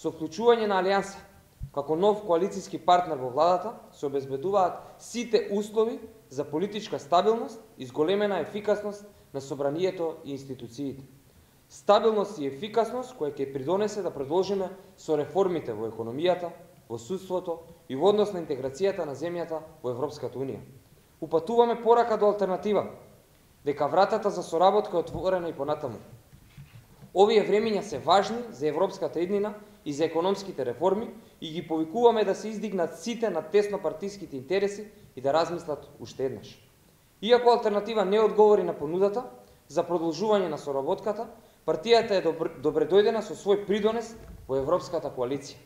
Со вклучување на Алијанса како нов коалициски партнер во владата се обезбедуваат сите услови за политичка стабилност и зголемена ефикасност на собранието и институциите. Стабилност и ефикасност која ќе придонесе да продолжиме со реформите во економијата, во судството и во однос на интеграцијата на земјата во Европската Унија. Упатуваме порака до алтернатива, дека вратата за соработка е отворена и понатаму. Овие времиња се важни за европската еднина и за економските реформи и ги повикуваме да се издигнат сите на теснопартиските интереси и да размислат уште еднаш. Иако алтернатива не одговори на понудата за продолжување на соработката, партијата е добредојдена со свој придонес во Европската коалиција.